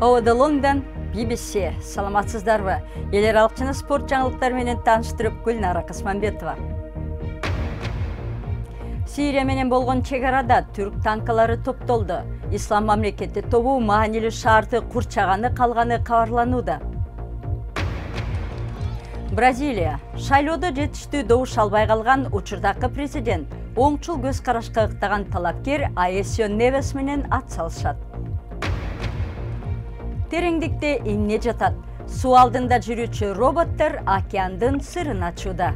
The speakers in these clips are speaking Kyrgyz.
Лондон, BBC. Саламатсыздарбы? Эл аралык жана спорт жаңылыктары менен тааныштырып Гүлнара Касманбетова. Сирия менен болгон чек арада түрк танкалары топтолду. Ислам мамлекети тобу маанилүү шаарды курчаганы калганы кабарланууда. Бразилия. Шайлоодо жетиштүү добуш албай калган учурдагы президент оңчул көз карашка ыктаган талапкер Аэсио Невес менен ат салышат. Тереңдикте эмне жатат? Суу алдында жүрүүчү роботтор океандын сырын ачууда.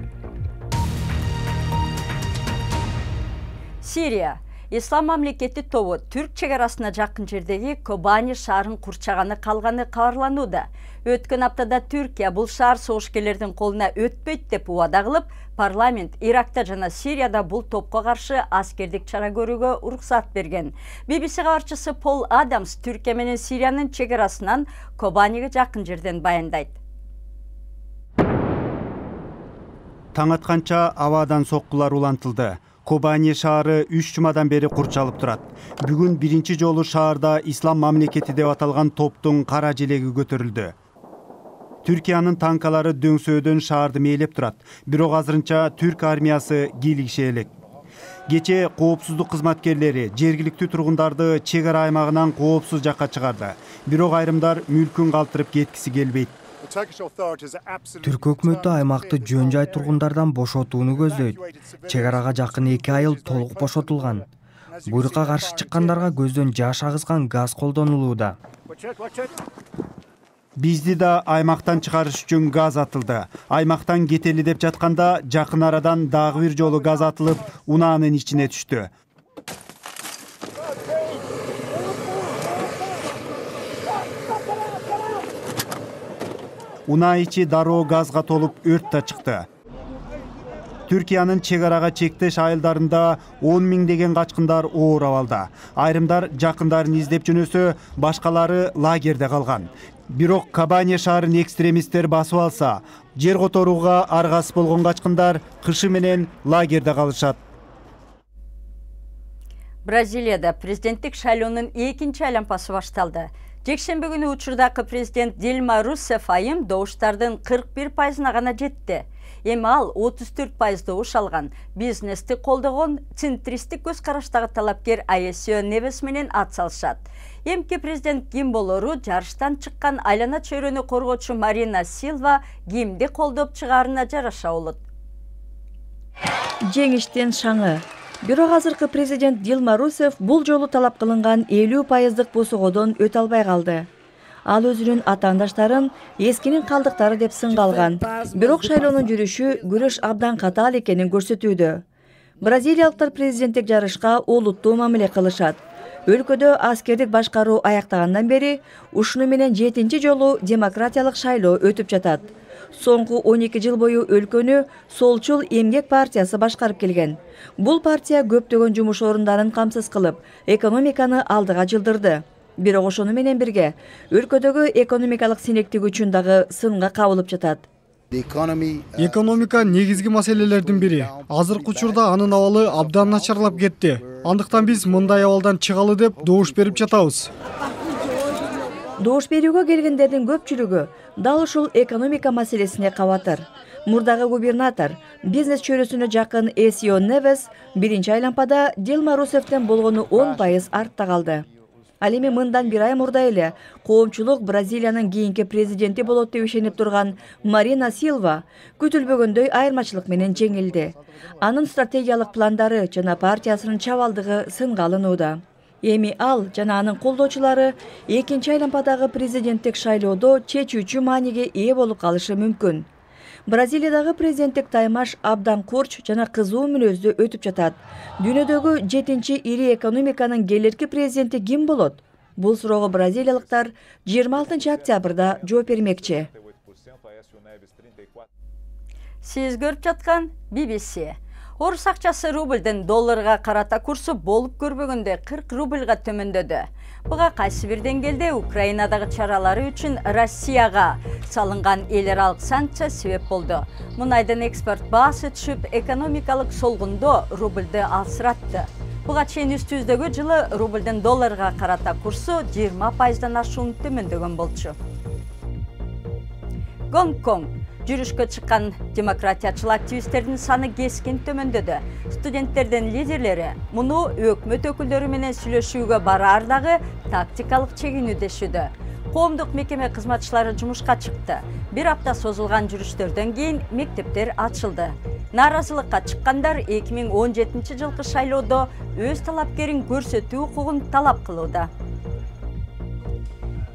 Сирия. Ислам мамлекети тобу түрк чек арасына жакын жердеги Кобани шаарын курчаганы калганы кабарланууда. Өткөн аптада Түркия бул шаар согушкерлердин колуна өтпөйт деп убада кылып, парламент Иракта жана Сирияда бул топко каршы аскердик чара көрүүгө уруксат берген. BBC кабарчысы Пол Адамс Түркия менен Сириянын чек арасынан Кобаниге жакын жерден баяндайт. Таң атканча абадан соккулар улантылды. Кобани шаары 3 жумадан бери курчалып турат. Бүгүн биринчи жолу шаарда Ислам мамлекети деп аталган топтун кара желеги көтөрүлдү. Түркиянын танкалары дөңсөөдөн шаарды мээлеп турат. Бирок азырынча түрк армиясы кийлигише элек. Кече коопсуздук кызматкерлери жергиликтүү тургундарды чек ара аймагынан коопсуз жакка чыгарды. Бирок айрымдар мүлкүн калтырып кеткиси келбейт. Түрк өкмөтү аймакты жөн жай тургундардан бошотууну көздөйт. Чек арага жакын 2 айыл толук бошотулган. Буйрукка каршы чыккандарга көздөн жаш агызган газ колдонулууда. Бизди да аймактан чыгарыш үчүн газ атылды. Аймактан кетели деп жатканда жакын арадан дагы бир жолу газ атылып, унаанын ичине түштү. Унаа ичи дароо газга толуп өрт да чыкты. Түркиянын чек арага чектеш айылдарында 10 миңдеген качкындар оор абалда. Айрымдар жакындарын издеп жөнөсө, башкалары лагерде калган. Бирок Кобани шаарын экстремисттер басып алса, жер которууга аргасыз болгон качкындар кышы менен лагерде калышат. Бразилияда президенттик шайлоонун 2-чи айланпасы башталды. Жекшемби күнү учурдагы президент Дилма Руссеф айым добуштардын 41%-на гана жетти. Эми ал 34% добуш алган. Бизнести колдогон центристик көз караштагы талапкер Аэсио Невес менен ат салышат. Эмки президент ким болору жарыштан чыккан айлана чөйрөнү коргоочу Марина Силва кимди колдоп чыгаарына жараша болот. Жеңиштен шаңы. Бирок азыркы президент Дилма Руссеф бул жолу талап кылынган 50% босогодон өтө албай калды. Ал өзүнүн атаандаштарын эскинин калдыктары деп сынга алган. Бирок шайлоонун жүрүшү күрөш абдан катаал экенин көрсөтүүдө. Бразилиялыктар президенттик жарышка олуттуу мамиле кылышат. Өлкөдө аскердик башкаруу аяктагандан бери ушуну менен 7-чи жолу демократиялык шайлоо өтүп жатат. Соңку 12 жыл бою өлкөнү Солчул эмгек партиясы башкарып келген. Бул партия көптөгөн жумуш орундарын камсыз кылып, экономиканы алдыга жылдырды. Бирок ошону менен бирге өлкөдөгү экономикалык синектик үчүн дагы сынга кабылып жатат. Экономика негизги маселелердин бири. Азыркы учурда анын абалы абдан начарлап кетти. Андыктан биз мындай абалдан чыгалы деп добуш берип жатабыз. Добуш берүүгө келгендердин көпчүлүгү дал ушул экономика маселесине кабатыр. Мурдагы губернатор, бизнес чөйрөсүнө жакын Аэсио Невес биринчи айланпада Дилма Руссефтен болгону 10% артта калды. Ал эми мындан бир ай мурда эле коомчулук Бразилиянын кийинки президенти болот деп ишенип турган Марина Силва күтүлбөгөндөй айырмачылык менен жеңилди. Анын стратегиялык пландары жана партиясынын чабалдыгы сынга алынууда. Эми ал жана анын колдоочулары 2-чи айланпадагы президенттик шайлоодо чечүүчү мааниге ээ болуп калышы мүмкүн. Бразилиядагы президенттик таймаш абдан курч жана кызуу мүнөздө өтүп жатат. Дүйнөдөгү 7-чи ири экономиканын келерки президенти ким болот? Бул суроого бразилиялыктар 26 октябрда жооп бермекчи. Сиз көрүп жаткан BBC. Орус акчасы рубльдин долларга карата курсу болуп көрбөгөндө 40 рубльга төмөндөдү. Буга кайсы бир деңгээлде Украинадагы чаралары үчүн Россияга салынган эл аралык санкция себеп болду. Мунайдын экспорт баасы түшүп, экономикалык солгундо рубльды алсыратты. Буга чейин үстүбүздөгү жылы рублдун долларга карата курсу 20%дан ашуун төмөндөгөн болчу. Гонконг. Жүрүшкө чыккан демократиячыл активисттердин саны кескин төмөндөдү. Студенттердин лидерлери муну өкмөт өкүлдөрү менен сүйлөшүүгө бараар дагы тактикалык чегинүүдөшүүдө. Коомдук мекеме кызматчылары жумушка чыкты. Бир апта созулган жүрүштөрдөн кийин мектептер ачылды. Нааразылыкка чыккандар 2017 жылкы шайлоодо өз талапкерин көрсөтүү укугун талап кылууда.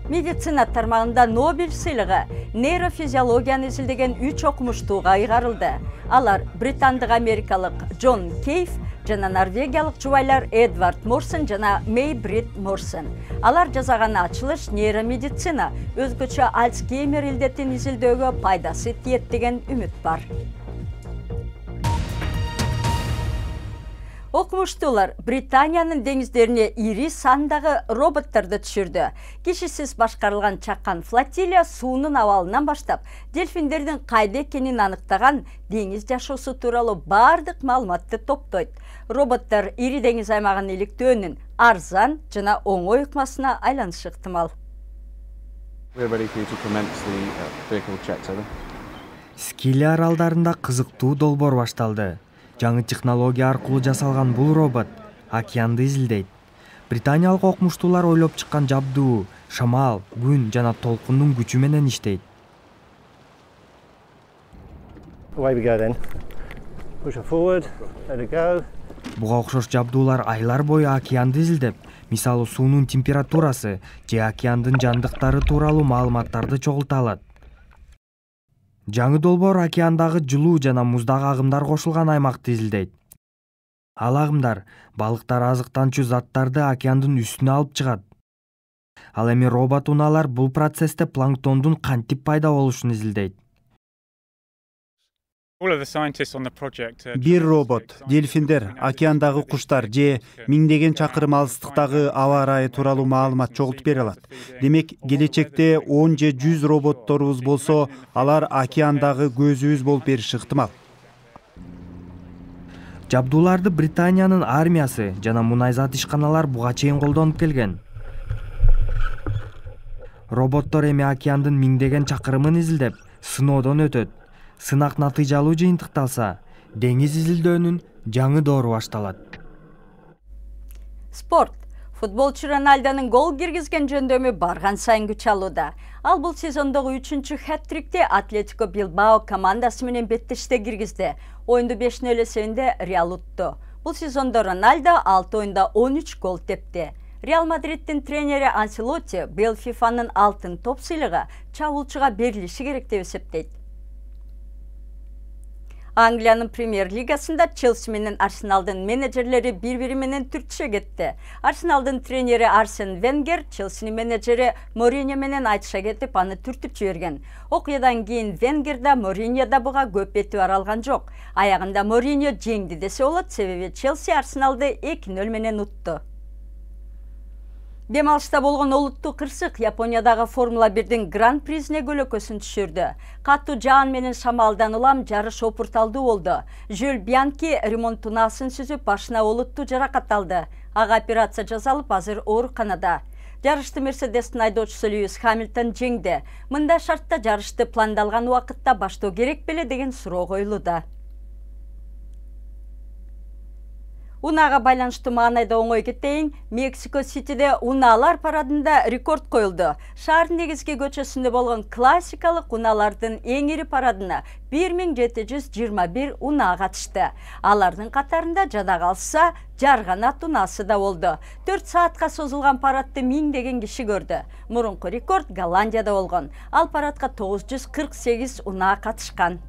Медицина тармагында Нобель сыйлыгы нейрофизиологияны изилдеген 3 окумуштууга ыйгарылды. Алар британдык америкалык Джон Кейв жана норвегиялык жубайлар Эдвард Морсон жана Мэй Брит Морсон. Алар жасаган ачылыш нейромедицина өзгөчө Альцгеймер илдетин изилдөөгө пайдасы тиет деген үмүт бар. Окумуштуулар Британиянын деңиздерине ири сандагы роботторду түшүрдү. Кишисиз башкарылган чакан флотилия суунун абалынан баштап дельфиндердин кайда экенин аныктаган деңиз жашоосу тууралуу бардык маалыматты топтойт. Роботтор ири деңиз аймагын иликтөөнүн арзан жана оңой ыкмасына айланышы ыктымал. Скили аралдарында кызыктуу долбоор башталды. Жаңы технология аркылуу жасалган бул робот океанды изилдейт. Британиялык окумуштуулар ойлоп чыккан жабдуу шамал, күн жана толкундун күчү менен иштейт. Буга окшош жабдуулар айлар бою океанды изилдеп, мисалы суунун температурасы же океандын жандыктары тууралуу маалыматтарды чогулта алат. Жаңы долбоор океандагы жылуу жана муздагы агымдар кошулган аймакты изилдейт. Ал агымдар балыктар азыктанчу заттарды океандын үстүнө алып чыгат. Ал эми робот унаалар бул процессте планктондун кантип пайда болушун изилдейт. Бир робот, дельфиндер, океандагы куштар же миңдеген чакырым алыстыктагы аба ырайы тууралуу маалымат чогултуп бере алат. Демек, келечекте 10 же 100 роботторубуз болсо, алар океандагы көзүбүз болуп бериши ыктымал. Жабдууларды Британиянын армиясы жана мунайзат ишканалар буга чейин колдонуп келген. Роботтор эми океандын миңдеген чакырымын изилдеп, сыноодон өтөт. Сынак натыйжалуу жыйынтыкталса, деңиз изилдөөнүн жаңы доору башталат. Спорт. Футболчу Роналдонун гол киргизген жөндөмү барган сайын күч алууда. Ал бул сезондогу 3-чү хет-трикти Атлетико Билбао командасы менен беттеште киргизди. Оюнду 5-0 эсебинде Реал утту. Бул сезондо Роналдо 6 оюнда 13 гол тепти. Реал Мадридтин тренери Анселотти быйыл ФИФАнын алтын топ сыйлыгы чабуулчуга берилиши керек деп эсептейт. Англиянын премьер-лигасында Челси менен Арсеналдын менеджерлери бири-бири менен түртүшө кетти. Арсеналдын тренери Арсен Венгер Челсинин менеджери Мориньо менен айтыша кетип, аны түртүп жиберген. Окуядан кийин Венгер да Мориньо да буга көп этибар алган жок. Аягында Мориньо жеңди десе болот, себеби Челси Арсеналды 2-0 менен утту. Дем алышта болгон олуттуу кырсык Япониядагы Формула 1-дин гран-призине көлөкөсүн түшүрдү. Катуу жаан менен шамалдан улам жарыш опурталдуу болду. Жюль Бьянки ремонт унаасын сүзүп, башына олуттуу жаракат алды. Ага операция жасалып, азыр ооруканада. Жарышты Мерседестин айдоочусу Льюис Хамилтон жеңди. Мындай шартта жарышты пландалган убакытта баштоо керек беле деген суроо коюлууда. Унага байланыштуу маанайда оңой кетейин, Мексико-Ситиде унаалар парадында рекорд коюлду. Шаардын негизги көчөсүндө болгон классикалык унаалардын эң ири парадына 1721 унаа катышты. Алардын катарында жада калса Жарганат унаасы да болду. 4 саатка созулган парадты миңдеген киши көрдү. Мурунку рекорд Голландияда болгон. Ал парадка 948 унаа катышкан.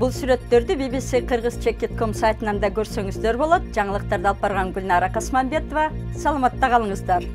Бул сүрөттөрдү BBC Kyrgyz.com сайтынан да көрсөңүздөр болот. Жаңылыктарды алып барган Гүлнара Касманбетова. Саламатта калыңыздар.